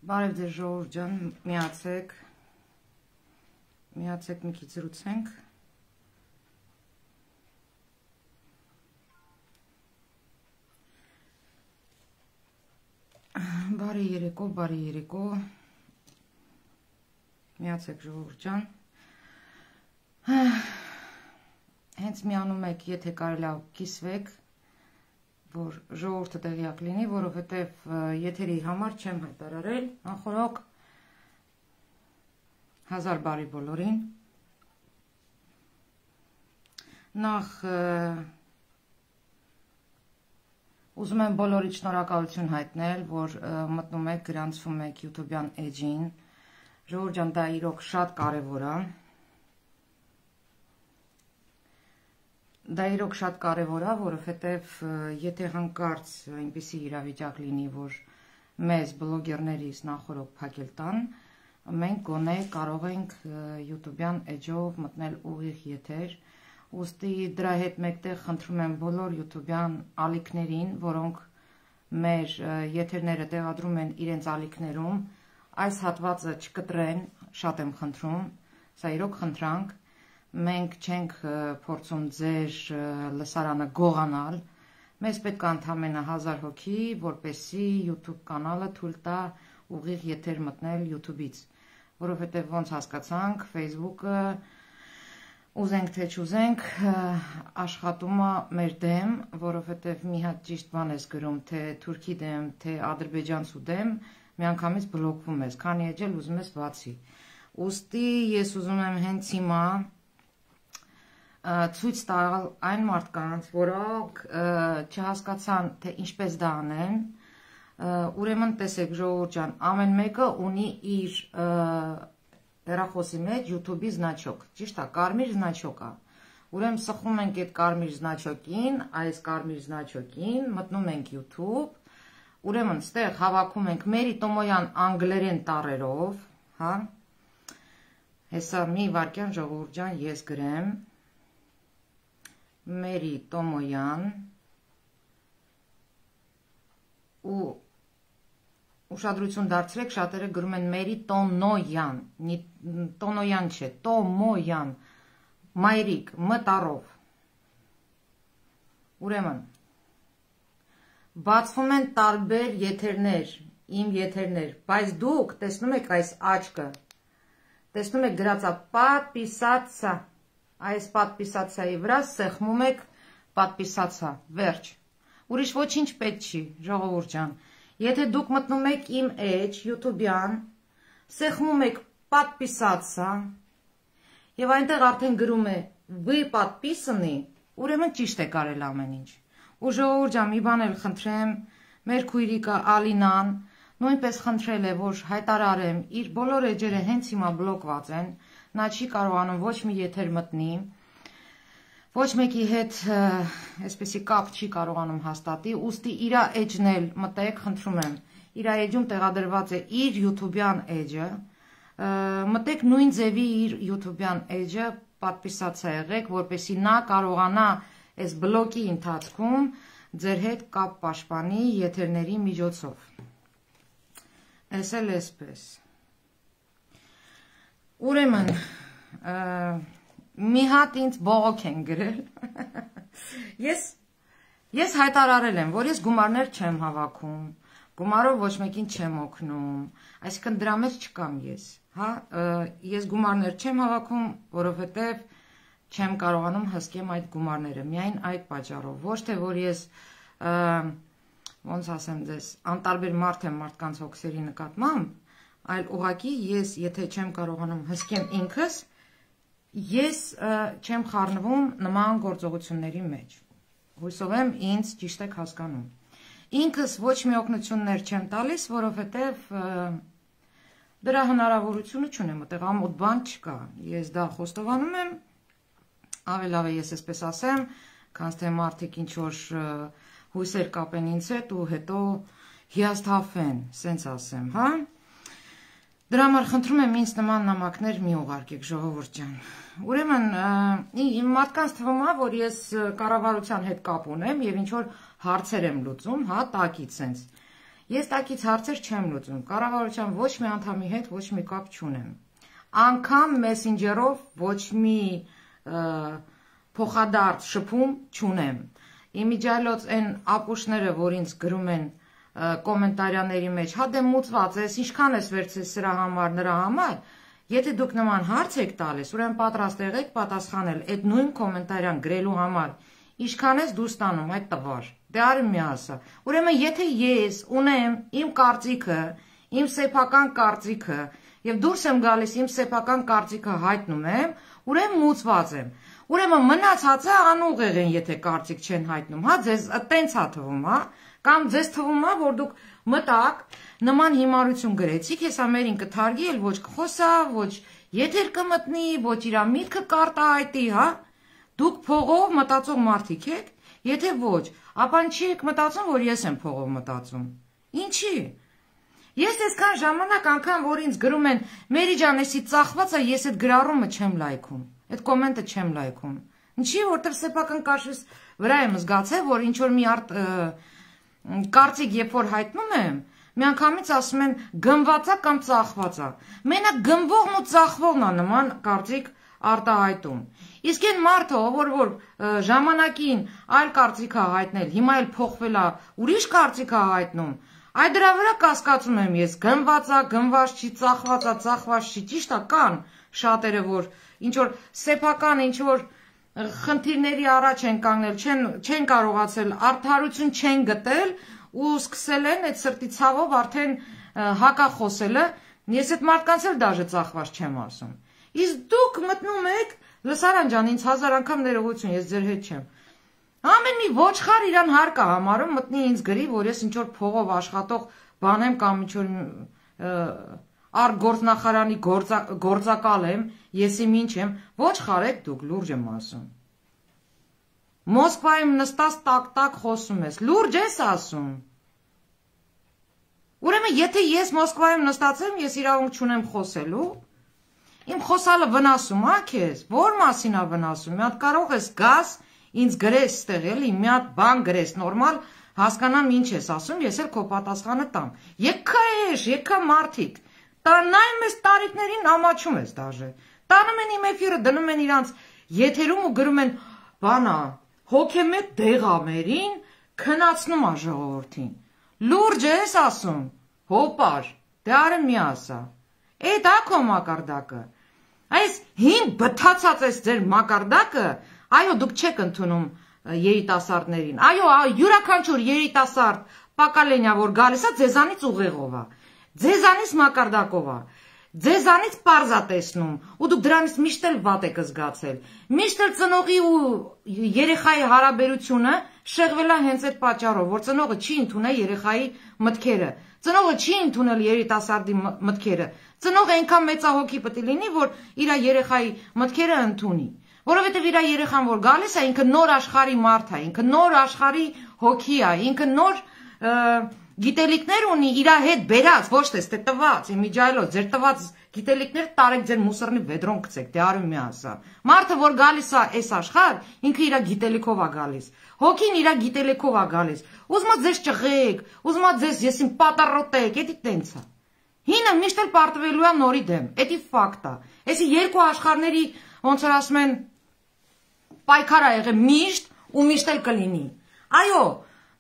Բարև ձեզ ժողովուրդ ջան, միացեք մի քիչ զրուցենք։ Բարի երեկո, միացեք ժողովուրդ ջան։ Հենց միանում եք, եթե կարելի է կիսվեք, որ ժողովուրդը տեղյակ լինի, որովհետև եթերի համար չեմ հայտարարել, անխորոք 1000 բարի բոլորին։ Նախ ուզում եմ բոլորիդ շնորհակալություն հայտնել, որ մտնում եք, գրանցվում եք YouTube-յան էջին։ Ժողովուրդ ջան, դա իրոք շատ կարևոր է։ Դա իրոք շատ կարևոր է, որովհետև եթե հանկարծ այնպիսի իրավիճակ լինի, որ մեզ բլոգերներից նախորոք փակել տան, մենք գոնե կարող ենք YouTube-յան էջով մտնել ուղիղ եթեր, ուստի դրա հետ մեկտեղ խնդրում եմ բոլոր YouTube-յան ալիքներին, որոնք մեր եթերները տեղադրում են իրենց ալիքներում, այս հատվածը չկտրեն, շատ եմ խնդրում, սա իրոք խնդրանք, մենք չենք փորձում ձեր լսարանը գողանալ, մեզ պետք է ընդամենը 1000 հոգի, որպեսզի YouTube կանալը թույլ տա ուղիղ եթեր մտնել YouTube-ից, որովհետև ոնց հասկացանք, Facebook-ը ուզենք թե չուզենք աշխատում է մեր դեմ, որովհետև մի հատ ճիշտ բան ես գրում, թե Թուրքի դեմ, թե ադրբեջանցու դեմ, միանգամից բլոկվում ես, քանի էջ էլ ուզում ես բացի։ Ուստի ես ուզում եմ հենց հիմա ցույց տալ այն մարդկանց, որոնք չհասկացան, թե ինչպես դա անեն, ուրեմն տեսեք ժողովուրդ ջան, ամեն մեկը ունի իր հեռախոսի մեջ YouTube-ի զնաչոկ, ճիշտ է, կարմիր զնաչոկ է, ուրեմն սխում ենք այդ կարմիր զնաչոկին, այս կարմիր զնաչոկին, մտնում ենք YouTube, ուրեմն ստեղ հավաքում ենք Մերի Տոմոյան անգլերեն տառերով, հա, հեսա մի վարքյան ժողովուրդ ջան ես գրեմ, Մերի Տոմոյան ու ուշադրություն դարձրեք, շատերը գրում են Մերի Տոնոյան, Տոնոյան չէ, Տոմոյան, մայրիկ, մտառով։ Ուրեմն, բացվում են տարբեր եթերներ, իմ եթերներ, բայց դուք տեսնում եք այս աչքը, տեսնում եք գրածա պատպիսացա, այս պատպիսացայի վրա սեղմում եք պատպիսացա, վերջ, ուրիշ ոչինչ պետք չի, ժողովուրդ ջան, եթե դուք մտնում եք իմ էջ, YouTube-յան, սեղմում եք պատպիսացա, և այնտեղ արդեն գրում է «Вы подписаны», ուրեմն ճիշտ է կարել ամեն ինչ, ու ժողովուրդ ջան, մի բան էլ խնդրեմ, մեր քույրիկը Ալինան, նույնպես խնդրել է, որ հայտարարեմ, իր բոլոր էջերը հենց հիմա բլոկված են, նա չի կարողանում ոչ մի եթեր մտնի, ոչ մեկի հետ այսպեսի կապ չի կարողանում հաստատի, ուստի իրա էջն էլ մտեք, խնդրում եմ, իրա էջում տեղադրված է իր YouTube-յան էջը, մտեք նույն ձևի իր YouTube-յան էջը, պատպիսացա եղեք, որպեսի նա կարողանա այս բլոկի ընթացքում ձեր հետ կապ պաշտպանի եթերների միջոցով։ Այս էլ էսպես։ Ուրեմն, մի հատ ինձ բողոք են գրել, ես հայտարարել եմ, որ ես գումարներ չեմ հավաքում, գումարով ոչ մեկին չեմ օգնում, այսինքն դրա մեջ չկամ ես, ես գումարներ չեմ հավաքում, որովհետև չեմ կարողանում հսկեմ այդ գումարները, միայն այդ պատճառով, ոչ թե որ ես, ոնց ասեմ ձեզ, անտարբեր մարդ եմ մարդկանց հոգսերի նկատմամբ, այլ ուղղակի ես, եթե չեմ կարողանում հսկեմ ինքս, ես չեմ խառնվում նման գործողությունների մեջ, հույսով եմ ինձ ճիշտ եք հասկանում, ինքս ոչ մի օգնություններ չեմ տալիս, որովհետև դրա հնարավորությունը չունեմ, այդտեղ ամոթ բան չկա, ես դա խոստովանում եմ, ավելավ է ես այսպես ասեմ, քանց թե մարդիկ ինչ-որ հույսեր կապեն ինձ հետ ու հետո հիասթափվեն, սենց ասեմ, հա? Դրա համար խնդրում եմ ինձ նման նամակներ մի ուղարկեք, ժողովուրդ ջան։ Ուրեմն, մարդկանց թվում է, որ ես կառավարության հետ կապ ունեմ եւ ինչ որ հարցեր եմ լուծում, հա, տակից սենց։ Ես տակից հարցեր չեմ լուծում, կառավարության ոչ մի անդամի հետ ոչ մի կապ չունեմ, անգամ մեսենջերով ոչ մի փոխադարձ շփում չունեմ, իմիջիայլոց այն ապուշները, որ ինձ գրում են կոմենտարյաների մեջ, հա դե մուծված ես, ինչքան ես վերցրել սրա համար, նրա համար, եթե դուք նման հարց եք տալիս, ուրեմն պատրաստ եղեք պատասխանել այդ նույն կոմենտարյան գրելու համար, ինչքան ես դու ստանում այդ տվար, դե արի մի ասա, ուրեմն եթե ես ունեմ իմ կարծիքը, իմ սեփական կարծիքը եւ դուրս եմ գալիս իմ սեփական կարծիքը հայտնում եմ, ուրեմն մուծված եմ, ուրեմն մնացածը անուղեղ են, եթե կարծիք չեն հայտնում, հա ձեզ տենց է թվում, հա, կամ ձեզ թվում է, որ դուք մտակ նման հիմարություն գրեցիք, հեսա մերին կթարգի էլ ոչ կխոսա, ոչ եթեր կմտնի, ոչ իրա միտքը կարտահայտի, հա, դուք փողով մտածող մարդիկ եք, եթե ոչ, ապա չի եք մտածում, որ ես եմ փողով մտածում, ինչի, ես այսքան ժամանակ անգամ, որ ինձ գրում են, Մերի ջան, էսի ծախվածը ես այդ գրառումը չեմ լայքում, այդ կոմենտը չեմ լայքում, ինչի, որտեղ սեփական կաշվից վրա եմ զգացել, որ ինչ-որ մի կարծիք երբ որ հայտնում եմ, միանգամից ասում են գնվածա կամ ծախվածա, մենակ գնվողն ու ծախվողն է նման կարծիք արտահայտում, իսկ այն մարդը, որ ժամանակին այլ կարծիք է հայտնել, հիմա էլ փոխվել է, ուրիշ կարծիք է հայտնում, այդ դրա վրա կասկածում եմ ես, գնվածա, գնված չի, ծախվածա, ծախված չի, ճիշտ է կան շատերը, որ ինչ-որ սեփական, ինչ-որ խնդիրների առաջ են կանգնել, չեն կարողացել, արդարություն չեն գտել ու սկսել են այդ սրտի ցավով արդեն հակախոսելը, ես այդ մարդկանց էլ դաժե ծախված չեմ ասում, իսկ դուք մտնում եք, լսարան ջան, ինձ 1000 անգամ ներողություն, ես ձեր հետ չեմ, ամեն մի ոչխար իրան հարկ է համարում, մտնի ինձ գրի, որ ես ինչ-որ փողով աշխատող բան եմ կամ ինչ-որ արտգործնախարանի գործակալ եմ, ես իմ ինչ եմ, ոչխար եք դուք, լուրջ եմ ասում, Մոսկվայում նստած տակ-տակ խոսում ես, լուրջ ես ասում, ուրեմն եթե ես Մոսկվայում նստած եմ, ես իրավունք չունեմ խոսելու, իմ խոսալը վնասում է քեզ, որ մասին է վնասում, մի հատ կարող ես գաս, ինձ գրես ստեղ էլի, մի հատ բան գրես, նորմալ հասկանամ ինչ ես ասում, ես էլ քո պատասխանը տամ, եկա էշ, եկա մարդիկ, նայում ես տարիքներին ամաչում ես դաժե, տանում են իմ էֆիրը, դնում են իրանց եթերում ու գրում են, բանա, հոգեմետ դեղամերին քնացնում է ժողովրդին, լուրջ ես ասում, հոպար, դե արը մի ասա, էդ ակո մակարդակը, այս հին բթացած ես ձեր մակարդակը, այո դուք չեք ընդունում երիտասարդներին, այո յուրաքանչյուր երիտասարդ պակալենյա որ գալիս է ձեզանից ուղեղով է, ձեզանից մակարդակով է, ձեզանից պարզա տեսնում ու դուք դրանից միշտ էլ վատ եք զգացել, միշտ էլ ծնողի ու երեխայի հարաբերությունը շեղվել է հենց այդ պատճառով, որ ծնողը չի ընդունել երեխայի մտքերը, ծնողը չի ընդունել երիտասարդի մտքերը, ծնողը այնքան մեծահոգի պետք է լինի, որ իր երեխայի մտքերը ընդունի, որովհետև իր երեխան որ գալիս է, ինքը նոր աշխարհի մարդ է, ինքը նոր աշխարհի հոգի է, ինքը նոր գիտելիքներ ունի իր հետ բերած, ոչ թե ստե տված, իմիջայլոց, ձեր տված գիտելիքներ տարեք ձեր մուսորնի վեդրոն գցեք, դե արում մի ասա։ Մարդը որ գալիս է այս աշխարհ, ինքը իր գիտելիքով է գալիս։ Հոգին իր գիտելիքով է գալիս։ Ուզում է ձեզ ճղեք, ուզում է ձեզ եսին պատառոտեք, էդի տենց է։ Հինը միշտ էլ պարտվելու է նորի դեմ, էդի ֆակտ է։ Էսի երկու աշխարհների ոնց որ ասում են պայքար ա եղել միշտ ու միշտ էլ կլինի։ Այո,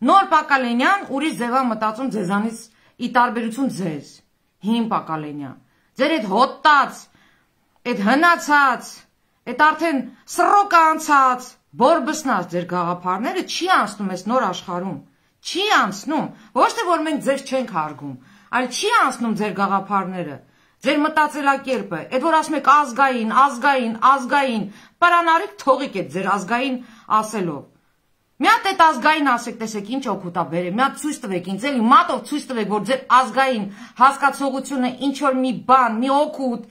նոր Պակալենյան ուրիշ ձև է մտածում ձեզանից ի տարբերություն ձեզ, հին Պակալենյան, ձեր այդ հոտած, այդ հնացած, այդ արդեն սռոկը անցած, բորբսնած ձեր գաղափարները չի անցնում այս նոր աշխարհում, չի անցնում, ոչ թե որ մենք ձեզ չենք հարգում, այլ չի անցնում ձեր գաղափարները, ձեր մտածելակերպը, այդ որ ասում եք ազգային, պարանարիք թողիկ եք ձեր ազգային ասելով։ Մի հատ այդ ազգային ասեք, տեսեք ինչ օգուտ է բերել, մի հատ ցույց տվեք ինձ, էլի մատով ցույց տվեք, որ ձեր ազգային հասկացողությունը ինչ որ մի բան, մի օգուտ,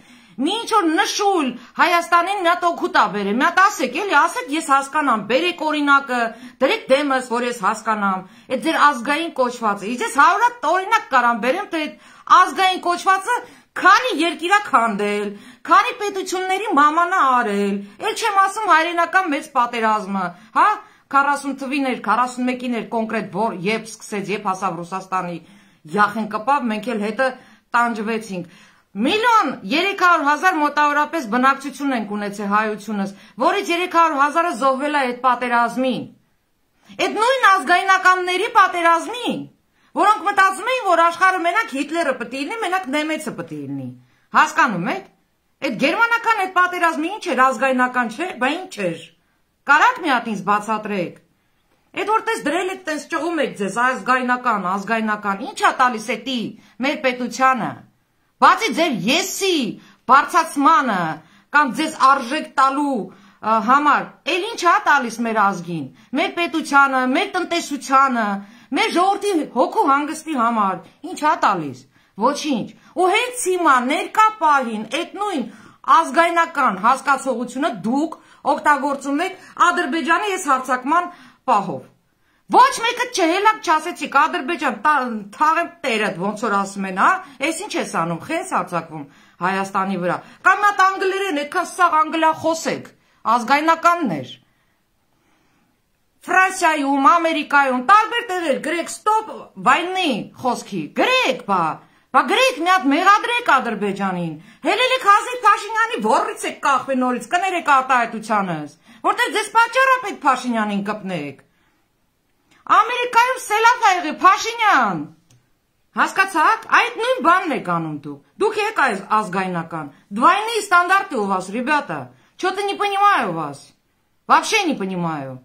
մի ինչ որ նշույլ Հայաստանին մի հատ օգուտ է բերել, մի հատ ասեք, էլի ասեք ես հասկանամ, բերեք օրինակը, դրեք դեմս, որ ես հասկանամ, այդ ձեր ազգային կոչվածը, ես 100 հատ օրինակ կարամ բերեմ, թե այդ ազգային կոչվածը քանի երկիր է քանդել, քանի պետությունների մամանա արել, էլ չեմ ասում հայրենական մեծ պատերազմը, հա 40 թվին էր, 41-ին էր կոնկրետ երբ սկսեց, երբ հասավ Ռուսաստանի յախեն կպավ, մենք էլ հետը տանջվեցինք։ 1,300,000 մոտավորապես բնակչություն ենք ունեցել հայությունս, որից 300,000-ը զոհվել է այդ պատերազմին։ Այդ նույն ազգայնականների պատերազմին, որոնք մտածում էին, որ աշխարհը մենակ Հիտլերը պետք է լինի, մենակ Նեմեցը պետք է լինի։ Հասկանում եք։ Այդ գերմանական այդ պատերազմը ինչ էր, ազգայնական չէր, բա ինչ էր։ Կարաք մի հատ ինձ բացատրեք։ Այդ որտես դրել եք, տես ճղում եք ձեզ ազգայնական, ինչա տալիս է տի մեր պետությանը։ Բացի ձեր եսի բարձացմանը կամ ձեզ արժեք տալու համար, էլ ինչա տալիս մեր ազգին, մեր պետությանը, մեր տնտեսությանը, մեր ժողովրդի հոգու հանգստի համար, ինչա տալիս։ Ոչինչ։ Ու հենց հիմա ներկա պահին այդ նույն ազգայնական հասկացողությունը դուք օգտագործում եք Ադրբեջանի այս հարձակման պահով։ Ոչ մեկը չհելակ չասեցիք Ադրբեջան թաղեմ տերդ ոնց որ ասում են, հա, այս ինչ ես անում, խես հարձակվում Հայաստանի վրա։ Կամ մատ անգլերեն, այդքան սաղ անգլիախոս եք, ազգայնականներ։ Ֆրանսիայում, Ամերիկայում, տարբեր տեղեր գրեք ստոպ վայնի խոսքի, գրեք, բա գրեք մի հատ մեղադրեք Ադրբեջանին, հելելեք Հազիվ Փաշինյանի ворից եք կախվի նորից, կներեք արտահայտությանս, որտեղ ձեզ պատճառ է պետք Փաշինյանին կպնեք։ Ամերիկայում սելավ ա եղել Փաշինյան, հասկացաք, այդ նույն բանն եք անում դուք եք այս ազգայնական, двойные стандарты у вас, ребята, что-то не понимаю вас, вообще не понимаю։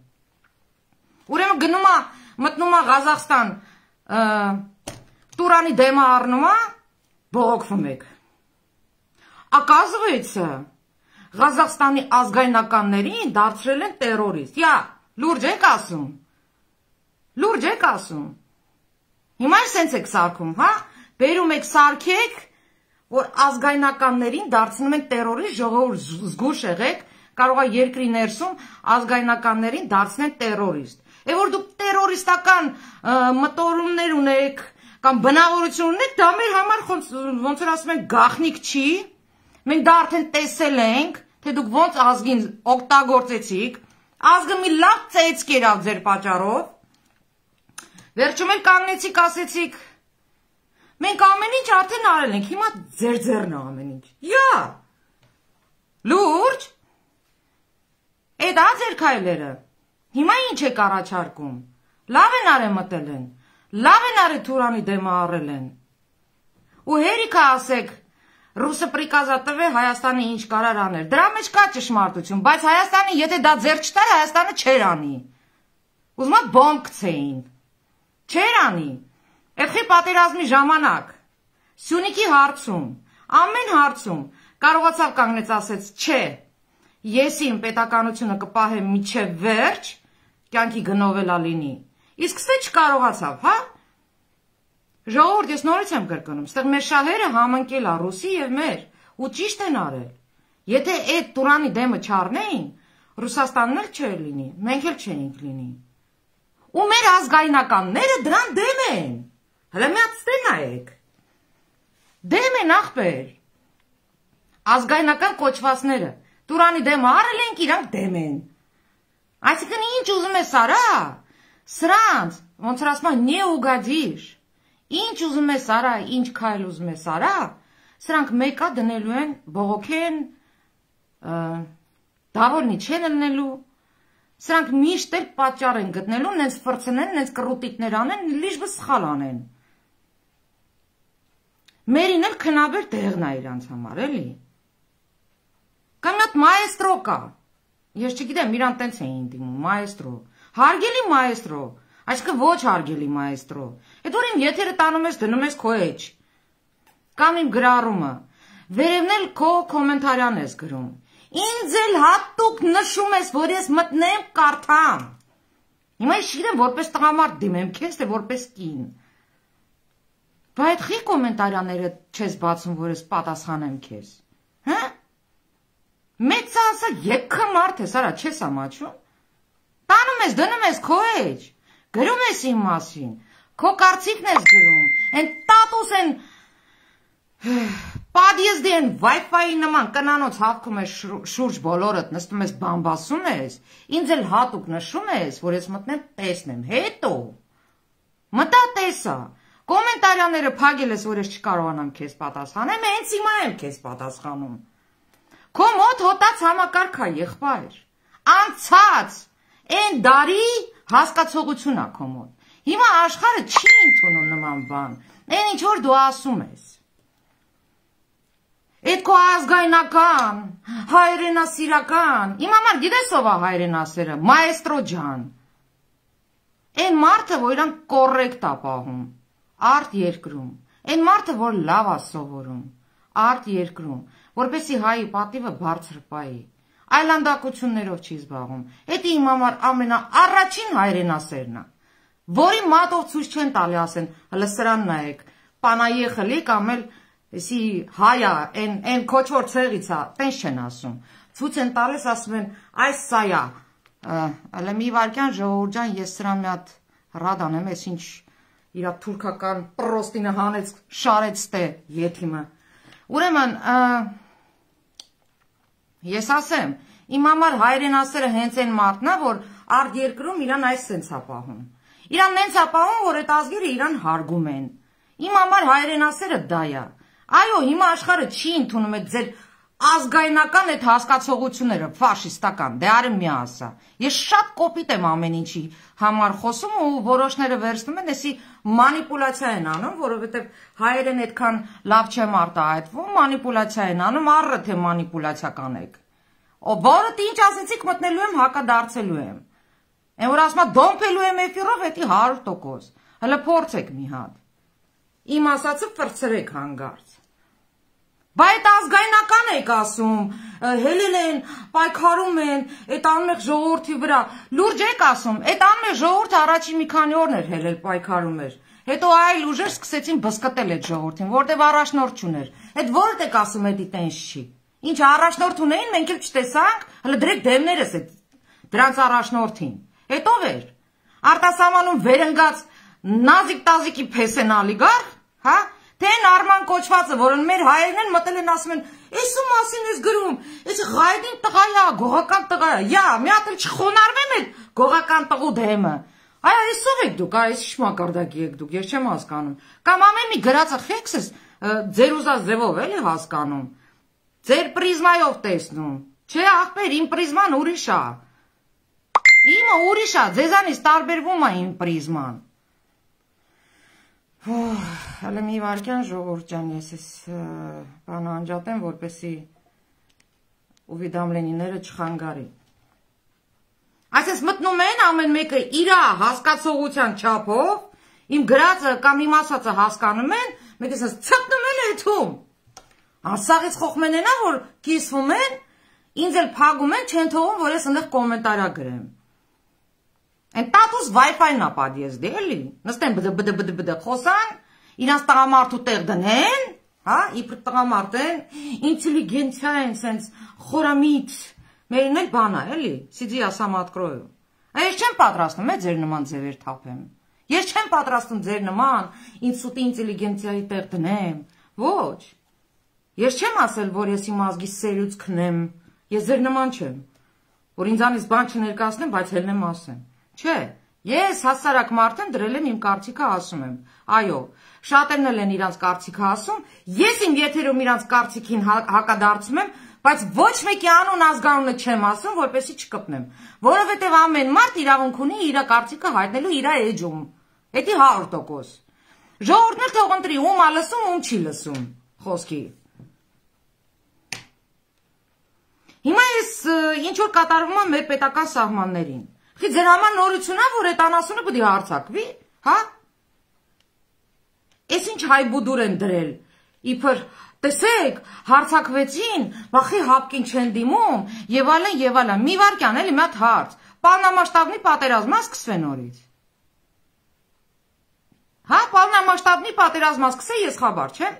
Ուրեմն գնում է, մտնում է Ղազախստան, Турանի դեմը առնում է, բողոքվում եք։ Оказывается, Ղազախստանի ազգայնականներին դարձրել են տերորիստ։ Լուրջ եք ասում։ Լուրջ եք ասում։ Հիմա սենց եք սարքում, հա? Բերում եք սարքեք, որ ազգայնականներին դարձնում են տերորիստ, ժողովուրդ զգուշ եղեք, կարող է երկրի ներսում ազգայնականներին դարձնեն տերորիստ։ Որ դուք տերորիստական մտորումներ ունեք կամ բնավորություն ունեք, դա մեր համար ոնց որ ասում են գաղտնիք չի։ Մենք դա արդեն տեսել ենք, թե դուք ոնց ազգին օգտագործեցիք, ազգը մի լավ ծեծ կերավ ձեր պատճառով։ Վերջում էլ կանգնեցիք, ասեցիք, մենք ամեն ինչ արդեն արել ենք, հիմա ձեր ձեռն է ամեն ինչ։ Լուրջ։ Այդ ա ձեր քայլերը։ Հիմա ինչ եք առաջարկում։ Լավ են արել մտել են, լավ են արել Թուրանի դեմը առել են։ Ու հերիքա ասեք, ռուսը պրիկազա տվե Հայաստանը ինչ կարար անել։ Դրա մեջ կա ճշմարտություն, բայց Հայաստանը եթե դա ձեռ չտար, Հայաստանը չեր անի։ Ուզում ա բոմբ գցեին։ Չեր անի։ Էրխի պատերազմի ժամանակ Սյունիքի հարցում, ամեն հարցում կարողացավ կանգնեց ասեց, չէ, ես իմ պետականությունը կպահեմ մինչև վերջ, կյանքի գնովելա լինի։ Իսկ ստե չկարողացավ, հա։ Ժողովուրդ, ես նորից եմ կրկնում, ստեղ մեր շահերը համընկել է Ռուսի եւ մեր, ու ճիշտ են արել։ Եթե այդ Տուրանի դեմը չառնեին, Ռուսաստանն էլ չէր լինի, մենք էլ չէինք լինի։ Ու մեր ազգայնականները դրան դեմ են։ Հələ մի հատ ստե նայեք։ Դեմ են ախպեր։ Ազգայնական կոչվածները Տուրանի դեմը առել ենք, իրանք դեմ են։ Այսինքն ինչ ուզում ես արա։ Սրանց, ոնց որ ասում են, не угодишь։ Ինչ ուզում ես արա, ինչ քայլ ուզում ես արա, սրանք մեկա դնելու են, բողոքեն, դավորնի չեն լնելու, սրանք միշտ էլ պատճառ են գտնելու, նենց ֆրցնեն, նենց կռուտիկներ անեն, լիժ բը սխալ անեն։ Մերին էլ քնաբեր տեղն է իրանց համար, էլի։ Կամ նատ մայեստրո կա, ես չգիտեմ, իրան տենց էին դիմում, մայեստրո, հարգելի մայեստրո, այսինքն ոչ հարգելի մայեստրո, այդ որ իմ եթերը տանում ես, դնում ես քո էջ, կամ իմ գրառումը, վերևն էլ քո կոմենտարյան ես գրում, ինձ էլ հատուկ նշում ես, որ ես մտնեմ կարդամ, հիմա ես չգիտեմ որպես տղամարդ դիմեմ քեզ, թե որպես կին, բա այդ խի կոմենտարյանները չես բացում, որ ես պատասխանեմ քեզ, հա? Մեծ ասա եկը մարդ ես, արա չես ամաչում, տանում ես, դնում ես քո էջ, գրում ես իմ մասին, քո կարծիքն ես գրում, են տատուս են, պադիեզդի են Wi-Fi-ի նման կնանոց հավքում ես շուրջ բոլորըդ, նստում ես բամբասում ես, ինձ էլ հատուկ նշում ես, որ ես մտնեմ տեսնեմ, հետո, մտա տեսա, Կոմենտարյաները փագել ես, որ ես չկարողանամ քեզ պատասխանեմ, հենց հիմա եմ քեզ պատասխանում։ Քո մոտ հոտած համակարգ է, եղբայր։ Անցած, այն դարի հասկացողություն է քո մոտ։ Հիմա աշխարհը չի ընդունում նման բան։ Այն ինչ որ դու ասում ես։ Այդ քո ազգայնական, հայրենասիրական, իմ համար գիտես ով է հայրենասերը, մայեստրո ջան։ Այն մարդը, որ իրան կոռեկտ է պահում, արտ երկրում, այն մարդը, որ լավ է սովորում, արտ երկրում, որպեսի հայի պատիվը բարձր պայի, այլանդակություններով չի զբաղվում, էդի իմ համար ամենաառաջին հայրենասերն է, որի մատով ցույց չեն տալի ասեն, հələ սրան նայեք, պանայեխլի կամ էլ Էսի հայա, են քոչվոր ցեղից է, տենց չեն ասում։ Ցույց են տալիս, ասում են, այս սա է։ Հələ մի վարքյան ժողովուրդ ջան, ես սրան մի հատ ռադ անեմ, ես ինչ իր թուրքական պրոստինը հանեց, շարեց տե եթիմը։ Ուրեմն, ես ասեմ, իմ համար հայրենասերը հենց այն մարդն է, որ արդ երկրում իրան այս սենց է պահում։ Իրան նենց է պահում, որ այդ ազգերը իրան հարգում են։ Իմ համար հայրենասերը դա է։ Այո, հիմա աշխարհը չի ընդունում այդ ձեր ազգայնական այդ հասկացողությունները, ֆաշիստական, դե արի մի ասա։ Ես շատ կոպիտ եմ ամեն ինչի համար խոսում ու որոշները վերցնում են, էսի մանիպուլյացիա են անում, որովհետև հայերեն այդքան լավ չեմ արտահայտվում, մանիպուլյացիա են անում, առը թե մանիպուլյացիա կանեք։ Որը ինչ ասեցիք մտնելու եմ, հակադարձելու եմ։ Այն որ ասում է դոմփելու եմ էֆիրով, էդի 100%։ Հələ փորձեք մի հատ։ Իմ ասածը ֆրցրեք հանգարց։ Բա այդ ազգայնական եք ասում, հելել են, պայքարում են, այդ անմեղ ժողովրդի վրա, լուրջ եք ասում, այդ անմեղ ժողովուրդը առաջին մի քանի օրն էր հելել պայքարում էր, հետո այլ ուժեր սկսեցին բսկտել այդ ժողովրդին, որտեվ առաջնորդ չուներ, այդ որդ եք ասում էդի տենց չի, ինչ առաջնորդ ունեին, մենք էլ չտեսանք, հələ դրեք դեմներս այդ դրանց առաջնորդին, հետո էր, արտասահմանում վերընկած նազիկ տազիկի փեսեն ալիգարխ, հա? Թե են Արման կոչվածը, որն մեր հայերն են մտել են ասում են, «Էսու մասին ես գրում, էս ղայդին տղա է, գողական տղա է, յա, մի հատ էլ չխոնարհվեմ էլ գողական տղու դեմը»։ Այ այսով եք դուք, այս ինչ մակարդակի եք դուք, ես չեմ հասկանում։ Կամ ամեն մի գրածը խեքս ես ձեր ուզած ձևով էլի հասկանում։ Ձեր պրիզմայով տեսնում։ Չէ, ախպեր, իմ պրիզման ուրիշ է։ Իմը ուրիշ է, ձեզանից տարբերվում է իմ պրիզման։ Հələ մի վարքյան ժողովուրդ ջան, ես ես բանը անջատեմ, որպեսի ուվիդամլենիները չխանգարի։ Այսպես մտնում են ամեն մեկը իրա հասկացողության չափով, իմ գրածը կամ իմ ասածը հասկանում են, մեկ ես ցտնում են էթում։ Անսաղից խոխմեն ենա, որ կիսվում են, ինձ էլ փագում են, չեն թողում, որ ես ընդեղ կոմենտարա գրեմ։ Են տատուս Wi-Fi-ն ապադիես դե էլի, նստեն բդ խոսան, իրանց տղամարդու տեղ դնեն, հա, իբր տղամարդ են, ինտելիգենցիա են, սենց խորամիտ, մերին էլ բան է, էլի, սիդի ասամ ատկրոյու։ Ես չեմ պատրաստում, ձեր նման ձևեր թափեմ, ես չեմ պատրաստում ձեր նման, ինստիտուտի ինտելիգենցիայի տեղ դնեմ, ոչ, ես չեմ ասել, որ ես իմ ազգի սերուց քնեմ, ես ձեր նման չեմ, որ ինձանից բան չներկայացնեմ, բայց հելնեմ ասեմ, չէ, ես հասարակ մարդն դրել եմ իմ կարծիքը ասում եմ, այո, շատերն էլ են իրանց կարծիքը ասում, ես իմ եթերում իրանց կարծիքին հակադարձում եմ, բայց ոչ մեկի անուն ազգանունը չեմ ասում, որպեսզի չկպնեմ, որովհետև ամեն մարդ իրավունք ունի իր կարծիքը հայտնելու իր էջում, էդի 100%, ժողովուրդն էլ թող ընտրի ում ա լսում, ում չի լսում, խոսքի։ Հիմա ես ինչ որ կատարվում է մեր պետական սահմաններին, ձեր համար նորություն է, որ այդ անասունը պիտի հարցակվի, հա? Էս ինչ հայբուդուր են դրել, իբր, տեսեք, հարցակվեցին, վախի հապկին չեն դիմում, եւ այլն, մի վարքյան էլի մի հատ հարց, պալնամասշտաբնի պատերազմը սկսվե նորից։ Հա, պալնամասշտաբնի պատերազմը սկսե, ես խաբար չեմ։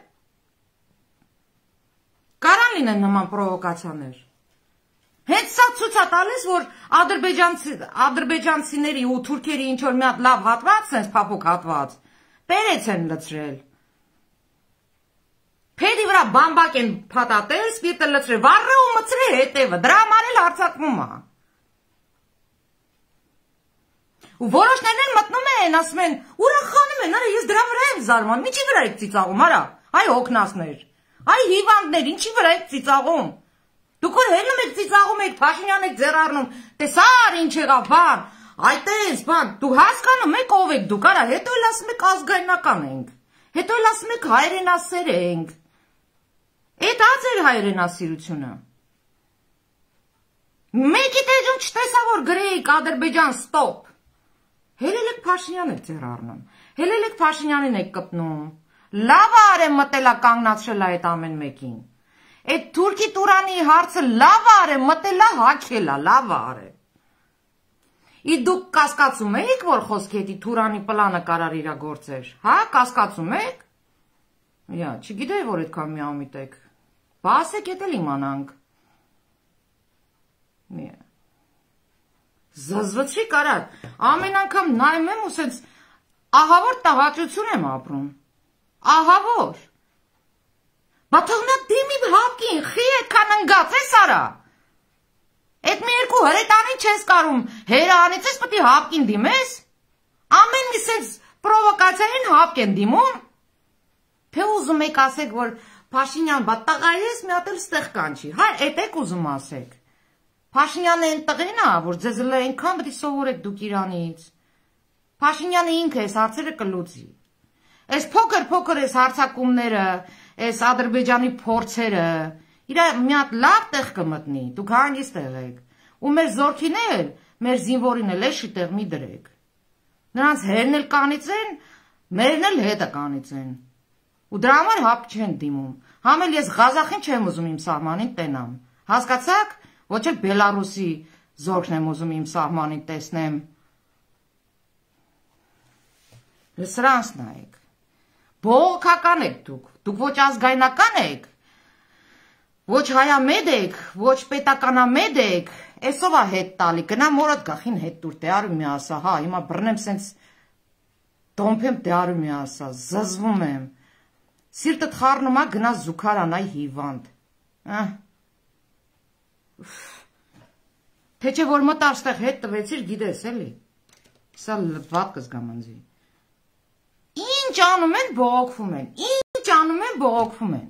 Կարան լինեն նման պրովոկացիաներ։ Հենց սա ցույց է տալիս, որ ադրբեջանցիների ու թուրքերի ինչ որ մի հատ լավ հատված, sense փափուկ հատված, պերեց են լցրել։ Փեդի վրա բամբակ են փաթաթել, սպիրտը լցրել, վառը ու մցրել հետևը, դրա համար էլ հարձակվում է։ Ու որոշներն էլ մտնում են, ասում են, ուրախանում են, արա ես դրա վրա եմ զարմանում, ինչի վրա եք ծիծաղում, արա, այ հոգնածներ, այ հիվանդներ, ինչի վրա եք ծիծաղում։ Դուք որ հելնում եք ծիծաղում եք, Փաշինյանն եք ձեռառնում, տեսար ինչ եղավ, բան, այտես, բան, դու հասկանում եք ով եք դուք, արա, հետո էլ ասում եք ազգայնական ենք, հետո էլ ասում եք հայրենասեր ենք։ Էդ ա ձեր հայրենասիրությունը։ Մեկի տեջում չտեսա, որ գրեիք Ադրբեջան ստոպ։ Հելել եք Փաշինյանն եք ձեր առնում, հելել եք Փաշինյանին եք կպնում, լավ արեմ մտելա կանգնացրել այդ ամեն մեկին, այդ թուրքի տուրանի հարցը լավ արեմ մտելա հակելա, լավ արեմ, ի դուք կասկածում եք, որ խոսքի հետի թուրանի պլանը կարար իրագործեր, հա, կասկածում եք, չգիտեի, որ այդքան միամիտ եք, բասեք ետ էլ իմանանք, Զզվցրի կարար, ամեն անգամ նայում եմ ու սենց ահավոր տաղաճություն եմ ապրում, ահավոր, բա թողնա դիմի հապկին, խի էդքան ընգաց ես արա, էդ մի երկու հրետանին չես կարում, հերանից ես պտի հապկին դիմես, ամեն մի սենց պրովոկացիային հապկ են դիմում, թե ուզում եք ասեք, որ Փաշինյան, բա տղա ես մի հատ էլ ստեղ կանչի, հա, էդ եք ուզում ասեք, Փաշինյանը են տղեն ա, որ ձեզ լը ենքան բտի սովորեք դուք իրանից, Փաշինյանը ինքը ես հարցերը կլուծի, ես փոքր ես հարցակումները, ես Ադրբեջանի փորձերը, իրա մի հատ լավ տեղ կմտնի, դուք հանգիստ եղեք, ու մեր զորքին էլ, մեր զինվորին էլ էշի տեղ մի դրեք, նրանց հերն էլ կանիցեն, մերն էլ հետը կանիցեն, ու դրա համար հապ չեն դիմում, համ էլ ես Ղազախին չեմ ուզում իմ սահմանին տենամ, հասկացաք, ոչ էլ Բելարուսի զորքն եմ ուզում իմ սահմանին տեսնեմ, սրանց նայեք, բողոքական եք դուք ոչ ազգայնական եք, ոչ հայամետ եք, ոչ պետականամետ եք, էսով ա հետ տալի, գնա մորդ գախին հետ տուր, դե արու մի ասա, հա, հիմա բռնեմ սենց դոմփեմ, դե արու մի ասա, զզվում եմ, սիրտդ խառնում ա գնա զուքարան այ հիվանդ, թե չէ որ մտար ստեղ հետ տվեցիր գիտես էլի, սա վատ կզգամ ընձի, ինչ անում են բողոքվում են, ինչ անում են բողոքվում են,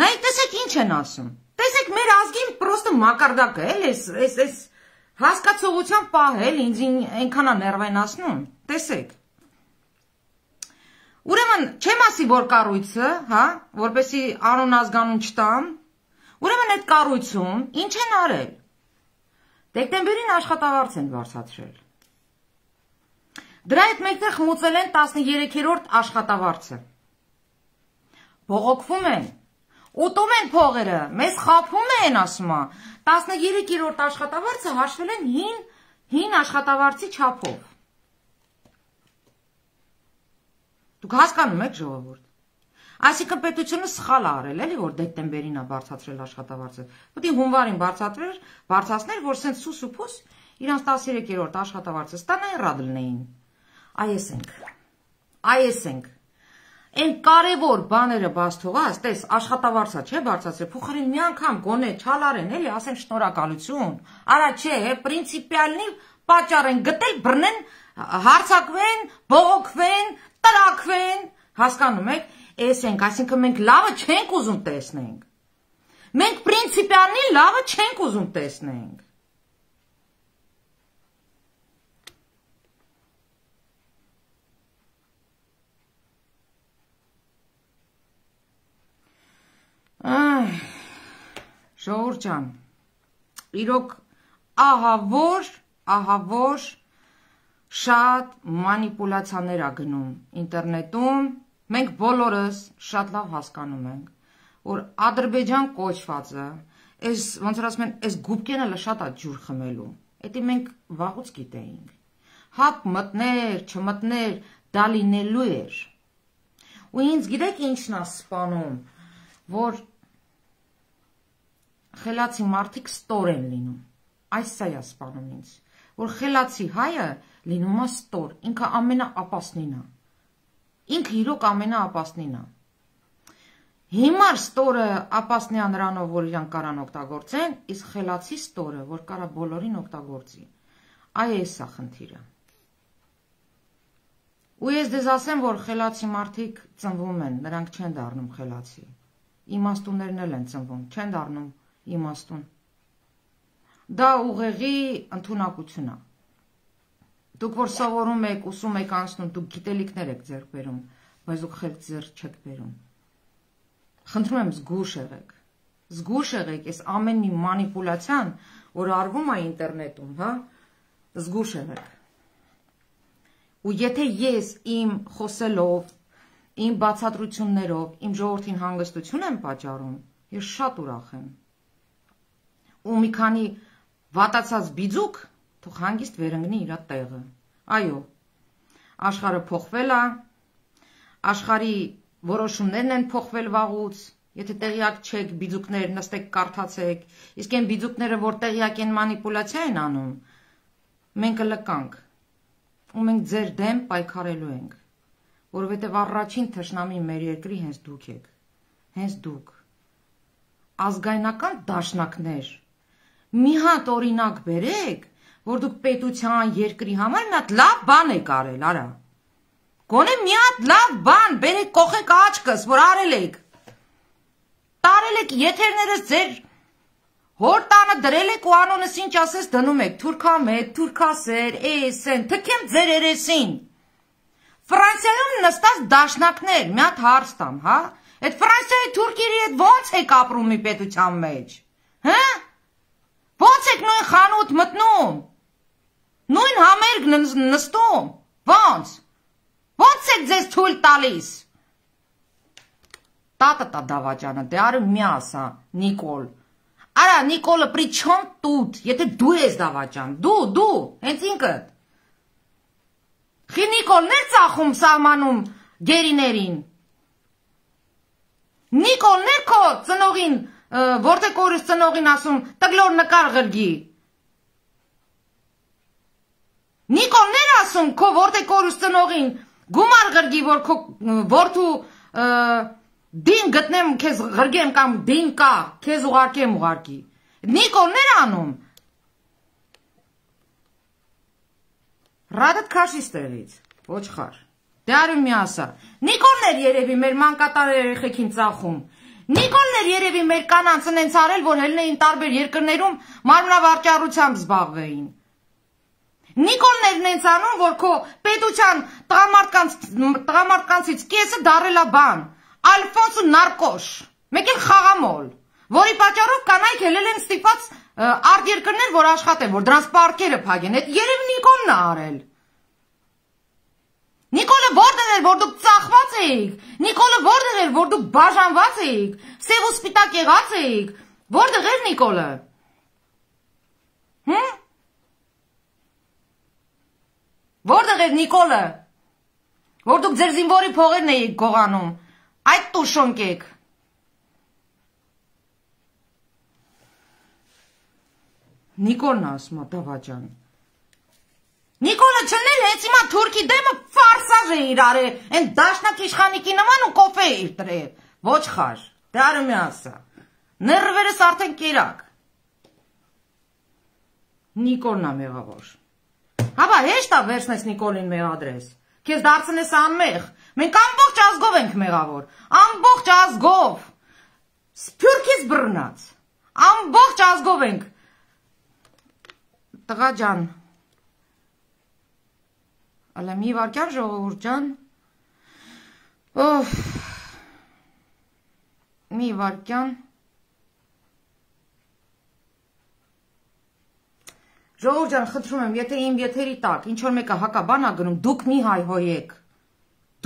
նայեք տեսեք ինչ են ասում, տեսեք մեր ազգին պրոստը մակարդակ է, էս հասկացողության պահել ինձ ենքանա ներվայնասնում, տեսեք, Ուրեմն չեմ ասի, որ կառույցը, հա, որպեսի անուն ազգանուն չտամ, ուրեմն այդ կառույցում ինչ են արել, դեկտեմբերին աշխատավարձ են վարձատրել, դրա հետ մեկտեղ խմուծել են 13-րդ աշխատավարձը, բողոքվում են, ուտում են փողերը, մեզ խաբում են ասումա, 13-րդ աշխատավարձը հաշվել են հին աշխատավարձի չափով, Դուք հասկանում եք ժողովուրդ, այսինքն պետությունը սխալ ա արել էլի, որ դեկտեմբերին ա բարձրացրել աշխատավարձը, պետք է հունվարին բարձրացներ, որ սենց սուս ու փուս իրանց 13-րդ աշխատավարձը ստանային ռադլնեին, այս ենք, այն կարևոր բաները բաց թողած, տես աշխատավարձա չէ բարձրացրել, փոխարեն մի անգամ գոնե չալարեն էլի, ասեն շնորհակալություն, արա չէ, պրինցիպիալնի պատճառ են գտել, բռնեն, հարցակվեն, բողոքվեն, տրակվեն, հասկանում եք, էս ենք, այսինքն մենք լավը չենք ուզում տեսնենք, մենք պրինցիպիալնի լավը չենք ուզում տեսնենք, ժողովուրդ ջան, իրոք ահավոր շատ մանիպուլացիաներ ա գնում ինտերնետում, մենք բոլորս շատ լավ հասկանում ենք, որ Ադրբեջան կոչվածը, ոնց որ ասում են, այս գուբկենը շատ ա ջուր խմելու, էդի մենք վաղուց գիտեինք, հապ մտներ, չմտներ, դա լինելու էր, ու ինձ գիտեք ինչն ա սպանում, որ խելացի մարդիկ ստոր են լինում, այս սա ա սպանում ինձ, որ խելացի հայը լինում ա ստոր, ինքը ամենաապասնին ա, ինքը իրոք ամենաապասնին ա, Հիմար ստորը ապասնյա նրանով, որ իրանք կարան օգտագործեն, իսկ խելացի ստորը, որ կարա բոլորին օգտագործի։ Այ էս է խնդիրը։ Ու ես դեզ ասեմ, որ խելացի մարդիկ ծնվում են, նրանք չեն դառնում խելացի։ Իմաստուններն էլ են ծնվում, չեն դառնում իմաստուն։ Դա ուղեղի ընդունակություն է։ Դուք որ սովորում եք, ուսում եք անցնում, դուք գիտելիքներ եք ձեռք բերում, բայց դուք խելք ձեռք չեք բերում։ Խնդրում եմ զգուշ եղեք։ Զգուշ եղեք, այս ամեն մի մանիպուլյացիան, որ արվում է ինտերնետում, հա, զգուշ եղեք։ Ու եթե ես իմ խոսելով, իմ բացատրություններով, իմ ժողովրդին հանգստություն եմ պատճառում, ես շատ ուրախ եմ։ Ու մի քանի վատացած բիձուկ թող հանգիստ վերընկնի իր տեղը։ Այո, աշխարհը փոխվել է, աշխարհի որոշումներն են փոխվել վաղուց, եթե տեղյակ չեք, բիձուկներ նստեք կարդացեք, իսկ այն բիձուկները, որ տեղյակ են մանիպուլյացիա են անում, մենք կլկանք, ու մենք ձեր դեմ պայքարելու ենք, որովհետև առաջին թշնամի մեր երկրի հենց դուք եք, հենց դուք, ազգայնական դաշնակներ, մի հատ օրինակ բերեք, որ դուք պետության երկրի համար մի հատ լավ բան եք արել, արա։ Գոնե մի հատ լավ բան, բերեք կողեք աչքս, որ արել եք։ Տարել եք եթերներս ձեր հոր տանը դրել եք ու անոնս ինչ ասես դնում եք, թուրքամետ, թուրքասեր, էսեն, թքեմ ձեր երեսին։ Ֆրանսիայում նստած դաշնակներ, մի հատ հարց տամ, հա։ Այդ Ֆրանսիայի թուրքերի հետ ո՞նց եք ապրում մի պետության մեջ։ Հա։ Ո՞նց եք նույն խանութ մտնում։ Նույն համերգ նստում։ Ո՞նց։ Ո՞նց եք ձեզ թույլ տալիս։ Տա դավաճանը, դե արը մի ասա, Նիկոլ։ Արա, Նիկոլը при чем тут, եթե դու ես դավաճան, դու, հենց ինքդ։ Խի Նիկոլներ ծախում սահմանում գերիներին։ Նիկոլներ քո ծնողին, որտե կորուս ծնողին ասում, տգլոր նկար ղրգի։ Նիկոլներ ասում, քո որտե կորուս ծնողին, գումար ղրգի, որ քո որդու դին գտնեմ քեզ ղրգեմ կամ դին կա, քեզ ուղարկեմ ուղարկի։ Նիկոլներ անում։ Ռադդ քաշի ստեղից, ոչխար։ Դե արում մի ասա։ Նիկոլներ երևի մեր մանկատար երեխեքին ծախում։ Նիկոլներ երևի մեր կանանց ընենց արել, որ հելնեին տարբեր երկրներում մարմնավարճառությամբ զբաղվեին։ Նիկոլներն են անում, որ քո պետության տղամարդկանցից կեսը դարել է բան, Ալֆոնսո նարկոշ, մեկ էլ խաղամոլ, որի պատճառով կանայք ելել են ստիպված արտերկրներ, որ աշխատեն, որ դրանց պարկերը փակեն, այդ երևի Նիկոլն է արել։ Նիկոլը որտեղ էր, որ դուք ծախված էիք, Նիկոլը որտեղ էր, որ դուք բաժանված էիք, սև ու սպիտակ եղած էիք, որտեղ էր Նիկոլը։ Որտեղ էր Նիկոլը, որ դուք ձեր զինվորի փողերն էիք գողանում, այդ տուշոնք եք։ Նիկոլն ասում է դավաճան։ Նիկոլը չլներ հենց հիմա թուրքի դեմը ֆարսաժ է իր արել, են դաշնակ իշխանիկի նման ու կոպե է իր տրել, ոչխար, դե արը մի ասա, ներվերս արդեն կերակ։ Նիկոլն է մեղավոր։ Հաբա հեշտ է վերցնես Նիկոլին մեղադրես, քեզ դարձնես անմեղ, մենք ամբողջ ազգով ենք մեղավոր, ամբողջ ազգով, սփյուրքից բռնած, ամբողջ ազգով ենք, տղա ջան, ալա մի վարկյան ժողովուրդ ջան, մի վարկյան, ժողովուրդ ջան, խնդրում եմ, եթե իմ եթերի տակ, ինչ որ մեկը հակաբան ա գնում, դուք մի հայհոյեք,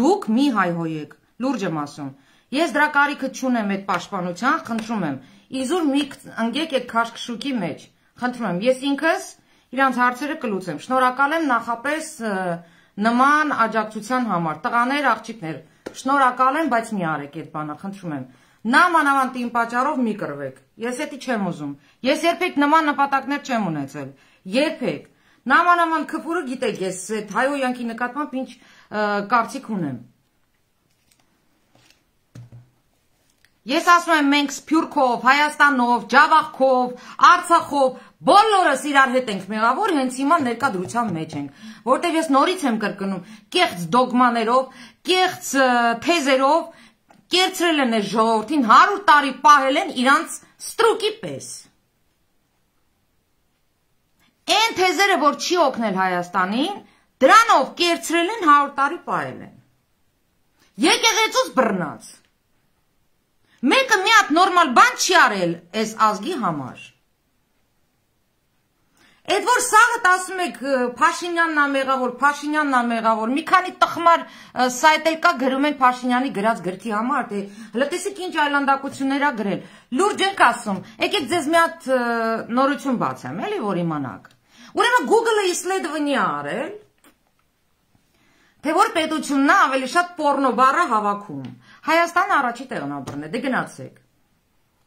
դուք մի հայհոյեք, լուրջ եմ ասում, ես դրա կարիքը չունեմ այդ պաշտպանության, խնդրում եմ, իզուր մի ընգեք այդ քաշքշուկի մեջ, խնդրում եմ, ես ինքս իրանց հարցերը կլուծեմ, շնորհակալ եմ նախապես նման աջակցության համար, տղաներ, աղջիկներ, շնորհակալ եմ, բայց մի արեք այդ բանը, խնդրում եմ, նամանավանդ իմ պատճառով մի կռվեք, ես էդի չեմ ուզում, ես երբեք նման նպատակներ չեմ ունեցել, երբեք, նամանավանդ քֆուրը գիտեք, ես այդ հայհոյանքի նկատմամբ ինչ կարծիք ունեմ, Ես ասում եմ մենք Սփյուռքով, Հայաստանով, Ջավախքով, Արցախով բոլորս իրար հետ ենք մեղավոր, հենց հիմա ներկայդրության մեջ ենք, որտեղ ես նորից եմ կրկնում, կեղծ դոգմաներով, կեղծ թեզերով կերծրել են այս ժողովրդին 100 տարի պահել են իրանց ստրուկի պես։ Այն թեզերը, որ չի օգնել Հայաստանին, դրանով կերծրել են 100 տարի պահել են։ Եկեղեցուց բռնած։ Մեկը մի հատ նորմալ բան չի արել այս ազգի համար։ Այդ որ սաղդ ասում եք Փաշինյանն ա մեղավոր, մի քանի տխմար սայթ էլ կա գրում են Փաշինյանի գրած գրքի համար, թե հələ տեսեք ինչ այլանդակություններ ա գրել։ Լուրջ ենք ասում, եկեք ձեզ մի հատ նորություն բացեմ, էլի որ իմանաք։ Ուրեմն Google-ը իսլեդվնի ա արել, թե որ պետությունն է ավելի շատ պորնո բառը հավաքում։ Հայաստանը առաջի տեղն ա բռնել, դե գնացեք։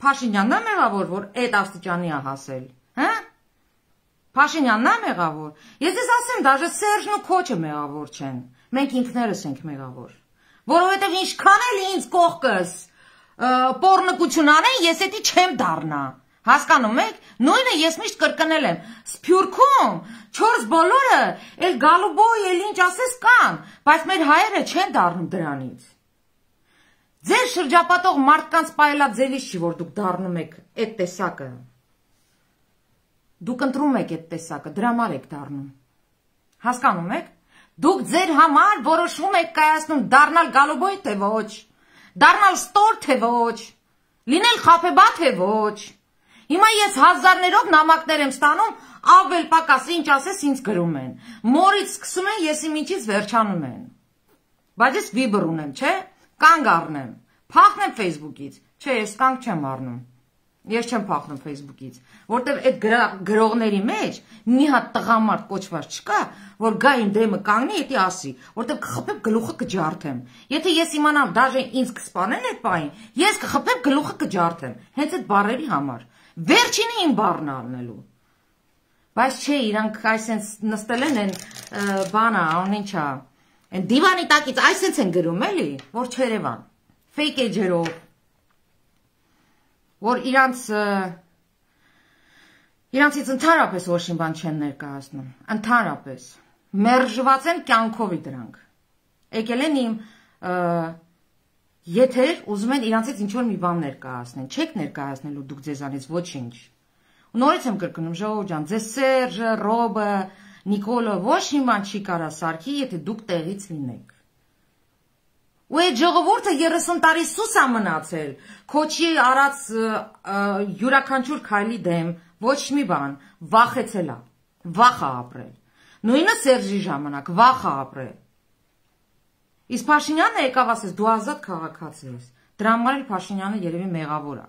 Փաշինյանն ա մեղավոր, որ այդ աստիճանի ա հասել, հա? Փաշինյանն ա մեղավոր։ Ես ես ասեմ, դաժե Սերժն ու Քոչը մեղավոր չեն։ Մենք ինքներս ենք մեղավոր։ Որովհետև ինչքան էլ ինձ կողքս պոռնկություն անեն, ես էդի չեմ դառնա։ Հասկանում եք։ Նույնը ես միշտ կրկնել եմ։ Սփյուռքում 4 բոլորը էլ գալուբոյ էլ ինչ ասես կան, բայց մեր հայերը չեն դառնում դրանից։ Ձեր շրջապատող մարդկանց պայելաձևից չի, որ դուք դառնում եք այդ տեսակը։ Դուք ընտրում եք այդ տեսակը, դրա համար եք դառնում։ Հասկանում եք։ Դուք ձեր համար որոշում եք կայացնում դառնալ գալուբոյ թե ոչ, դառնալ ստոր թե ոչ, լինել խաբեբա թե ոչ։ Հիմա ես հազարներով նամակներ եմ ստանում, ավել պակաս ինչ ասես ինձ գրում են։ Մորից սկսում են, եսի միջից վերջանում են։ Բայց ես Viber ունեմ, չէ՞, կանգ առնեմ, փախնեմ Facebook-ից, չէ, ես կանգ չեմ առնում։ Ես չեմ փախնում Facebook-ից, որտեվ այդ գրողների մեջ մի հատ տղամարդ կոչված չկա, որ գա իմ դեմը կանգնի, էդի ասի, որտեվ կխփեմ գլուխը կջարդեմ։ Եթե ես իմանամ, դաժե ինձ կսպանեն այդ պահին, ես կխփեմ գլուխը կջարդեմ, հենց այդ բառերի համար։ Վերջինը իմ բառն առնելու։ Բայց չէ, իրանք այսենց նստել են այն բանը, անինչա, այն դիվանի տակից այսենց են գրում, էլի, որ Չերևան, fake էջերով, որ իրանցից ընդհանրապես ոչ մի բան չեն ներկայացնում, ընդհանրապես, մերժված են կյանքովի դրանք, եկել են իմ եթեր, ուզում են իրանցից ինչ-որ մի բան ներկայացնեն, չեք ներկայացնելու դուք ձեզանից ոչինչ, ու նորից եմ կրկնում, ժողովուրդ ջան, ձեզ Սերժը, Ռոբը, Նիկոլը ոչ մի բան չի կարա սարքի, եթե դուք տեղից լինեք։ Ու այդ ժողովուրդը 30 տարի սուս ա մնացել, Քոչի արած յուրաքանչյուր քայլի դեմ, ոչ մի բան, վախեցել ա, վախ ա ապրել։ Նույնը Սերժի ժամանակ, վախ ա ապրել։ Իսկ Փաշինյանը եկավ ասես, դու ազատ քաղաքացի ես, դրա համար էլ Փաշինյանը երևի մեղավոր ա։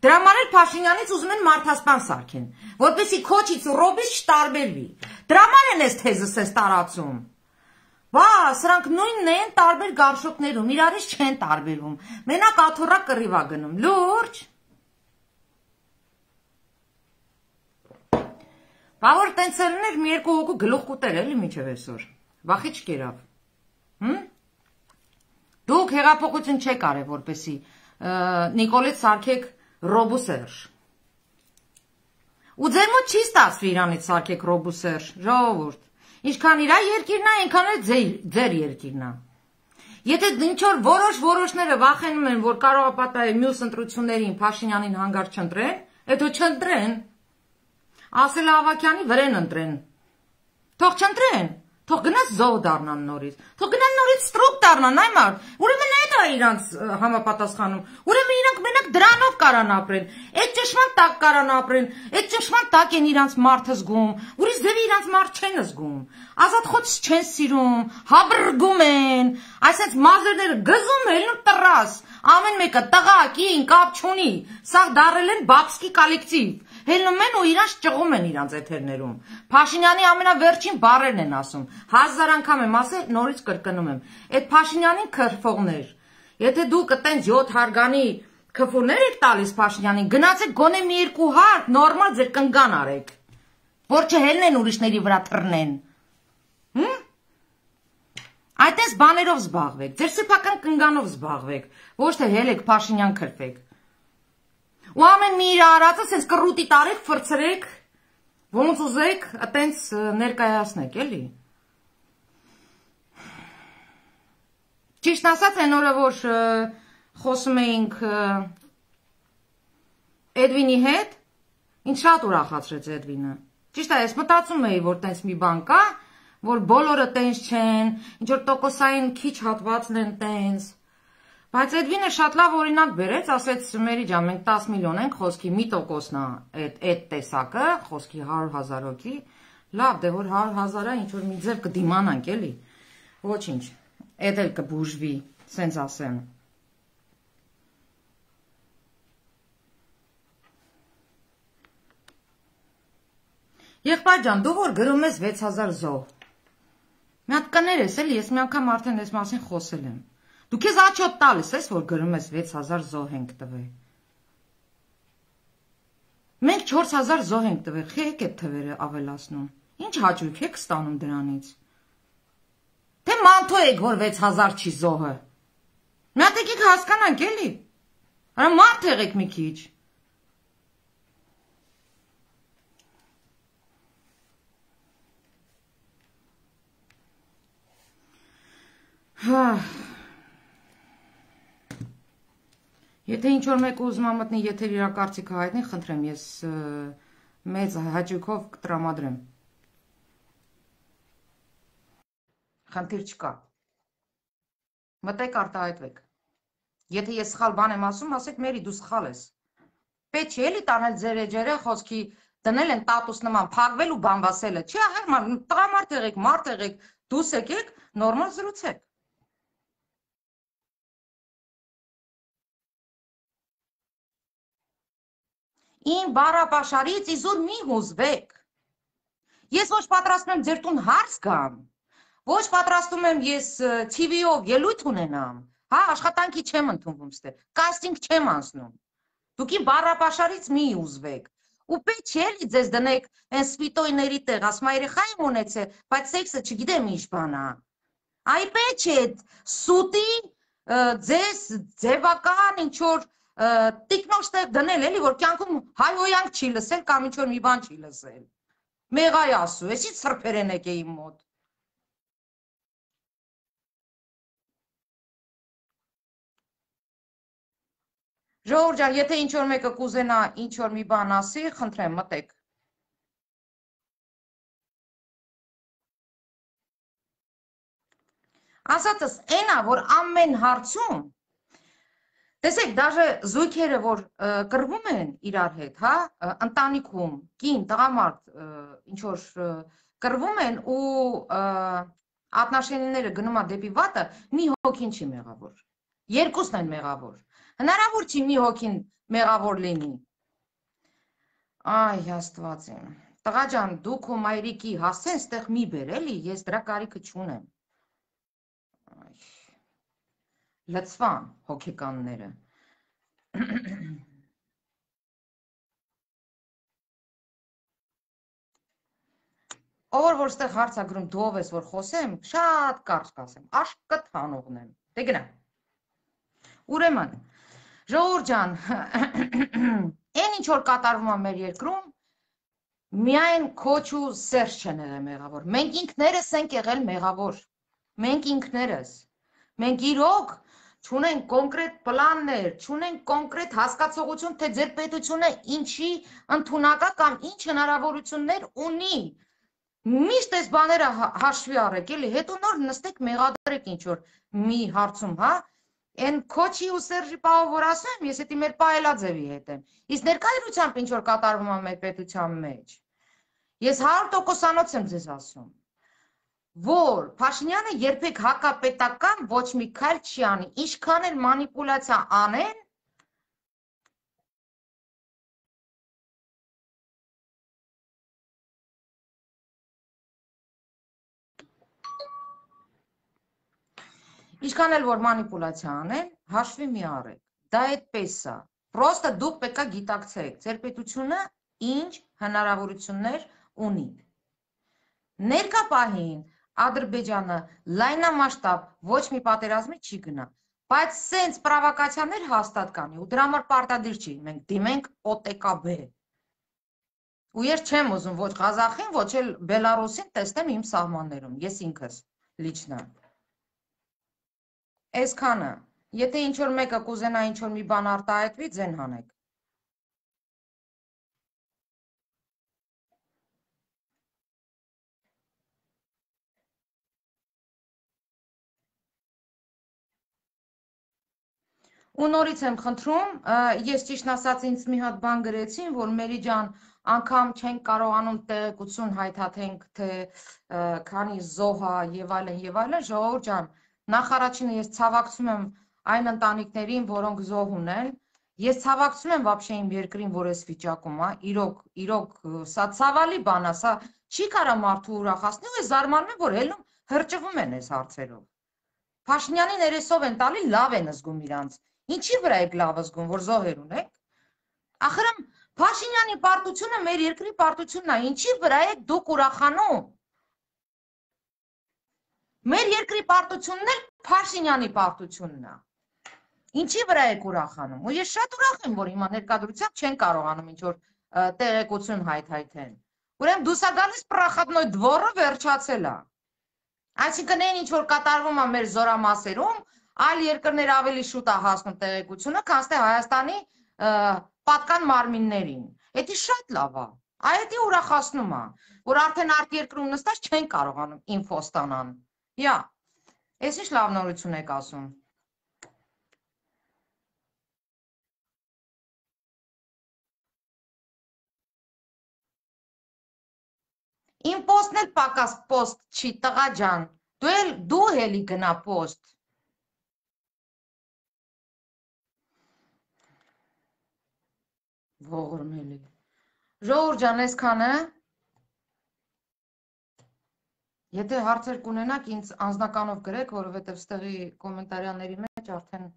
Դրա համար էլ Փաշինյանից ուզում են մարդասպան սարքեն, որպեսզի Քոչից ու Ռոբից չտարբերվի։ Դրա համար են այս թեզս էս տարածում։ Վա, սրանք նույնն են տարբեր գարշոկներում, իրարից չեն տարբերում, մենակ աթոռա կռիվ ա գնում, լուրջ։ Բա որ տենց ելներ մի երկու հոգու գլուխ կուտեր էլի մինչև այսօր, վախի չկերավ։ Դուք հեղափոխություն չեք արել, որպեսի Նիկոլից սարքեք Ռոբ ու Սերժ։ Ու ձեր մոտ չի ստացվի իրանից սարքեք Ռոբ ու Սերժ, ժողովուրդ։ Ինչքան իրա երկիրն է, այնքան էլ ձեր երկիրն է։ Եթե ինչ-որ որոշները վախենում են, որ կարող է պատահել մյուս ընտրություններին Փաշինյանին հանգարց չընտրեն, հետո չընտրեն։ Ասել Ավակյանի վրեն ընտրեն։ Թող չընտրեն, թող գնաց զոհ դառնան նորից, թող գնան նորից ստրուկ դառնան, այ մարդ, ուրեմն այդ է իրանց համապատասխանում, ուրեմն իրանք մենակ դրանով կարան ապրեն, այդ ճշմարտ տակ կարան ապրեն, այդ ճշմարտ տակ են իրանց մարդը զգում, ուրիշ ձևի իրանց մարդ չեն զգում, ազատ խոց չեն սիրում, հաբրգում են, այսպես մազերները գզում են ու տրաս, ամեն մեկը տղա, կին, կապ չունի, սաղ դարել են բաբսկի կոլեկտիվ, հելնում են ու իրանց ճղում են իրանց էթերներում, Փաշինյանի ամենավերջին բառերն են ասում, 1000 անգամ եմ ասել, նորից կրկնում եմ, այդ Փաշինյանին քրֆողներ, եթե դուք այտենց 7 հարգանի քֆուրներ եք տալիս Փաշինյանին, գնացեք գոնե մի երկու հարկ, նորմալ ձեր կնգան արեք, որ չհելնեն ուրիշների վրա թռնեն, Այդպես բաներով զբաղվեք, ձեր սեփական կնգանով զբաղվեք, ոչ թե հելեք Փաշինյան քրվեք։ Ու ամեն մի իր արածը sense կռուտի տարեք, ֆրցրեք, ոնց ուզեք, այտենց ներկայացնեք, էլի։ Ճիշտ ասած, այն օրը որ խոսում էինք Էդվինի հետ, ինձ շատ ուրախացրեց Էդվինը։ Ճիշտ է, ես մտածում էի, որ տենց մի բան կա, որ բոլորը տենց չեն, ինչ որ տոկոսային քիչ հատվածն են տենց։ Բայց Էդվինը շատ լավ օրինակ բերեց, ասեց Մերի ջան, մենք 10 միլիոն ենք, խոսքի մի տոկոսն է այդ տեսակը, խոսքի 100,000 հոգի, լավ, դե որ 100,000-ը ինչ որ մի ձև կդիմանանք, էլի։ Ոչինչ, էդ էլ կբուժվի, սենց ասեմ։ Եղբայր ջան, դու որ գրում ես 6000 զոհ։ Մի հատ կներես էլի, ես մի անգամ արդեն այս մասին խոսել եմ։ Դու քեզ աչոտ տալիս ես, որ գրում ես 6000 զոհ ենք տվել։ Մենք 4000 զոհ ենք տվել, եք այդ թվերը ավելացնում։ Ինչ հաճույք եք ստանում դրանից։ Թե մանթո եք, որ 6000 չի զոհը։ Մի հատ եկեք հասկանանք էլի։ Արա մարդ եղեք մի քիչ։ Եթե ինչ-որ մեկը ուզում է մտնի եթեր իր կարծիքը հայտնի, խնդրեմ, ես մեծ հաճույքով կտրամադրեմ։ Խնդիր չկա։ Մտեք արտահայտվեք։ Եթե ես սխալ բան եմ ասում, ասեք Մերի, դու սխալ ես։ Պետք չի էլի տանել ձեր էջերը խոսքի դնել են տատուս նման, փակվել ու բանվասելը։ Չի ահեր, տղամարդ եղեք, մարդ եղեք, դուս եկեք, նորմալ զրուցեք։ Իմ բառապաշարից իզուր մի հուզվեք։ Ես ոչ պատրաստում եմ ձեր տուն հարց գամ, ոչ պատրաստում եմ ես TV-ով ելույթ ունենամ, հա, աշխատանքի չեմ ընդունվում ստե, կաստինգ չեմ անցնում։ Դուք իմ բառապաշարից մի հուզվեք։ Ու պետք չէ էլի ձեզ դնեք այն սպիտոյների տեղ, ասում երեխա եմ ունեցել, բայց սեքսը չգիտեմ ինչ բան է։ Այ պետք չէ սուտի ձեզ ձևական ինչ որ տիկնոջ տեղ դնել էլի, որ կյանքում հայհոյանք չի լսել կամ ինչ որ մի բան չի լսել։ Մեղայ ասու, ես ինչ սրբերեն եք է իմ մոտ։ Ժողովուրդ ջան, եթե ինչ որ մեկը կուզենա ինչ որ մի բան ասի, խնդրեմ մտեք։ Ասածս այնա, որ ամեն հարցում տեսեք, դաժե զույգերը, որ կռվում են իրար հետ, հա, ընտանիքում, կին, տղամարդ, ինչ որ կռվում են ու ատնաշենիները գնում է դեպի վատը, մի հոգին չի մեղավոր։ Երկուսն են մեղավոր։ Հնարավոր չի մի հոգին մեղավոր լինի։ Այ Աստված իմ։ Տղա ջան, դու քո մայրիկի հասցեն ստեղ մի բեր, էլի, ես դրա կարիքը չունեմ։ Լծվան հոգեկանները։ Ով որ ստեղ հարց է գրում, դու ով ես որ խոսեմ, շատ կարճ կասեմ, աշկտ հանողն եմ։ Դե գնա։ Ուրեմն, ժողովուրդ ջան, այն ինչ որ կատարվում է մեր երկրում, միայն քոչ ու Սերժ չեն եղել մեղավոր։ Մենք ինքներս ենք եղել մեղավոր։ Մենք ինքներս։ Մենք իրոք չունենք կոնկրետ պլաններ, չունենք կոնկրետ հասկացողություն, թե ձեր պետությունը ինչի ընդունակա կամ ինչ հնարավորություններ ունի։ Միշտ այս բաները հաշվի առեք, էլի, հետո նոր նստեք մեղադրեք ինչ որ մի հարցում, հա։ Այն քոչի ու Սերժի պահով որ ասեմ, ես էդի մեր պայելաձևի հետ եմ։ Իսկ ներկայությամբ ինչ որ կատարվում է մեր պետության մեջ։ Ես 100%-անոց եմ ձեզ ասում, որ Փաշինյանը երբեք հակապետական ոչ մի քայլ չի անի, ինչքան էլ մանիպուլյացիա անեն, ինչքան էլ որ մանիպուլյացիա անեն, հաշվի մի առեք, դա այդպես է, պրոստը դուք պետք է գիտակցեք, ձեր պետությունը ինչ հնարավորություններ ունի։ Ներկա պահին Ադրբեջանը լայնամասշտաբ ոչ մի պատերազմի չի գնա, բայց սենց պրովոկացիաներ հաստատ կանի ու դրա համար պարտադիր չի մենք դիմենք ՕՏԿԲ։ Ու ես չեմ ուզում ոչ Ղազախին, ոչ էլ Բելարուսին տեսնեմ իմ սահմաններում, ես ինքս լիչնա։ Այսքանը, եթե ինչ որ մեկը կուզենա ինչ որ մի բան արտահայտվի, ձեն հանեք։ Ու նորից եմ խնդրում, ես ճիշտ ասած ինձ մի հատ բան գրեցին, որ Մերի ջան, անգամ չենք կարողանում տեղեկություն հայթաթենք, թե քանի զոհ է եւ այլն, ժողովուրդ ջան, նախ առաջինը ես ցավակցում եմ այն ընտանիքներին, որոնք զոհ ունեն։ Ես ցավակցում եմ вообще իմ երկրին, որ էս վիճակում է, իրոք, սա ցավալի բան է, սա չի կարա մարդու ուրախացնի, ու ես զարմանում եմ, որ ելնում հրճվում են այս հարցերով։ Փաշինյանի ներեսով են տալի, լավ են զգում իրանց։ Ինչի վրա եք լավ զգում, որ զոհեր ունեք։ Ախրամ Փաշինյանի պարտությունը մեր երկրի պարտությունն է, ինչի վրա եք դուք ուրախանում։ Մեր երկրի պարտությունն էլ Փաշինյանի պարտությունն է։ Ինչի վրա եք ուրախանում։ Ու ես շատ ուրախ եմ, որ հիմա ներկայությամբ չեն կարողանում ինչ որ տեղեկություն հայթայթեն։ Ուրեմն դուս ա գալիս պրախատնոյ դվորը վերջացել է։ Այսինքն այն ինչ որ կատարվում է մեր զորամասերում, այլ երկրներ ավելի շուտ է հասնում տեղեկությունը, քան թե Հայաստանի պատկան մարմիններին։ Դա շատ լավ է։ Այդ ուրախացնում է, որ արդեն արտերկրում նստած չեն կարողանում ինֆո ստանան։ Յա, ես ինչ լավ նորություն եք ասում։ Իմ պոստն էլ պակաս պոստ չի, տղա ջան։ Դու էլի գնա պոստ։ Ողորմելի։ Ժողովուրդ ջան, այսքանը։ Եթե հարցեր կունենաք, ինձ անձնականով գրեք, որովհետև ստեղի կոմենտարյաների մեջ արդեն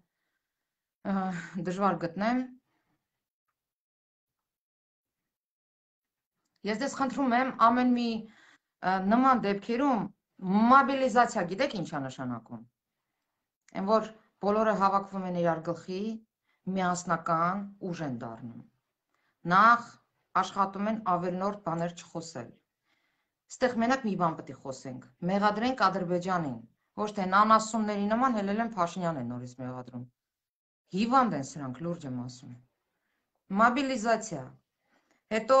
դժվար գտնեմ։ Ես դες խնդրում եմ ամեն մի նման դեպքերում մոբիլիզացիա, գիտեք ինչ է նշանակում։ Այն որ բոլորը հավաքվում են իրար գլխի, միասնական ուժ են դառնում։ Նախ աշխատում են ավելնորդ բաներ չխոսել։ Ստեղ մենակ մի բան պետք է խոսենք։ Մեղադրենք Ադրբեջանին, ոչ թե նանասումների նման հելել են Փաշինյանին նորից մեղադրում։ Հիվանդ են սրանք, լուրջ եմ ասում։ Մոբիլիզացիա։ Հետո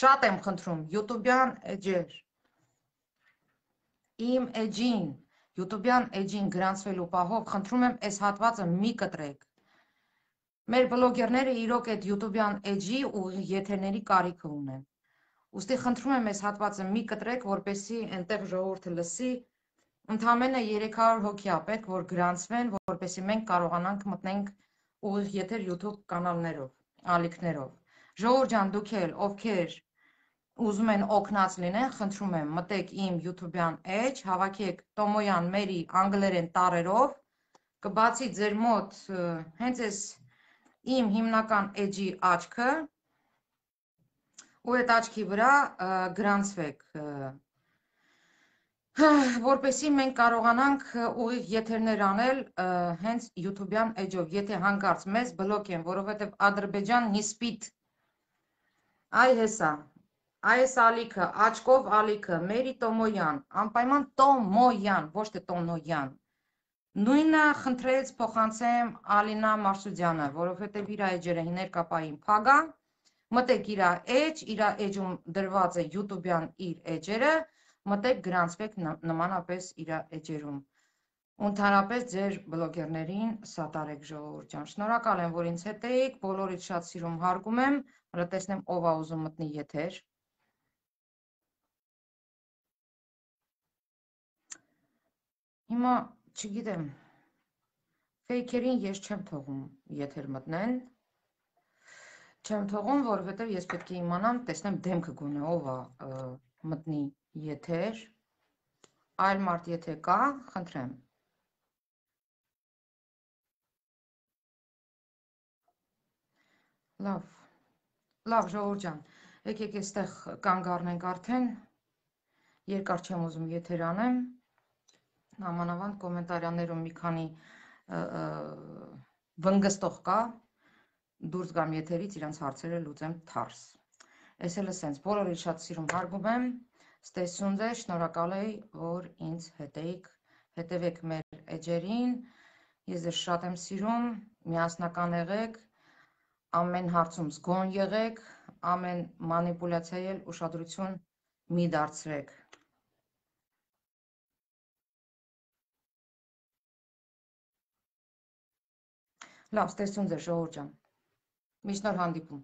շատ եմ խնդրում յութուբյան էջեր։ Իմ էջին, յութուբյան էջին գրանցվելու պահով խնդրում եմ այս հատվածը մի կտրեք։ Մեր բլոգերները իրոք այդ յութուբյան էջի ու եթերների կարիքը ունեն։ Ուստի խնդրում եմ այս հատվածը մի կտրեք, որպեսզի այնտեղ ժողովուրդը լսի, ընդամենը 300 հոգի է պետք, որ գրանցվեն, որպեսզի մենք կարողանանք մտնենք ուղիղ եթեր YouTube կանալներով, ալիքներով։ Ժողովուրդ ջան, դուք էլ, ովքեր ուզում են օգնած լինեն, խնդրում եմ, մտեք իմ YouTube-յան էջ, հավաքեք Տոմոյան Մերի անգլերեն տառերով, կբացի ձեր մոտ հենց այս իմ հիմնական էջի աչքը, ու այդ աչքի վրա գրանցվեք, որպեսզի մենք կարողանանք ուղիղ եթերներ անել հենց YouTube-յան էջով, եթե հանկարծ մեզ բլոկ են, որովհետև Ադրբեջան նիսպիտ, այ հեսա, այս ալիքը, աչկով ալիքը, Մերի Տոմոյան, անպայման Տոմոյան, ոչ թե Տոնոյան, նույնը խնդրեց փոխանցեմ Ալինա Մարսուդյանը, որովհետև իր էջերը ներկապային փագա, մտեք իր էջ, իր էջում դրված է YouTube-յան իր էջերը, մտեք գրանցվեք նմանապես իր էջերում։ Ընդհանրապես ձեր բլոգերներին սատարեք ժողովուրդ ջան։ Շնորհակալ եմ, որ ինձ հետ էիք, բոլորից շատ սիրում հարգում եմ, հələ տեսնեմ ով է ուզում մտնի եթեր։ Հիմա չգիտեմ, ֆեյքերին ես չեմ թողում եթեր մտնեն, չեմ թողում, որովհետև ես պետք է իմանամ, տեսնեմ դեմքը գոնե ով է մտնի եթեր, այլ մարդ եթե կա, խնդրեմ։ Լավ ժողովուրդ ջան, եկեք այստեղ կանգ առնենք արդեն, երկար չեմ ուզում եթեր անեմ, նամանավանդ կոմենտարյաներում մի քանի վնգստող կա, դուրս գամ եթերից իրանց հարցերը լուծեմ թարս։ Ես էլ սենց բոլորից շատ սիրում հարգում եմ, ստեսուն ձեզ, շնորհակալ եմ, որ ինձ հետևեք մեր էջերին, ես ձեզ շատ եմ սիրում, միասնական եղեք, ամեն հարցում զգոն եղեք, ամեն մանիպուլյացիայի էլ ուշադրություն մի դարձրեք։ Լավ, ստեսուն ձեզ, ժողովուրդ ջան, միշտ նոր հանդիպում։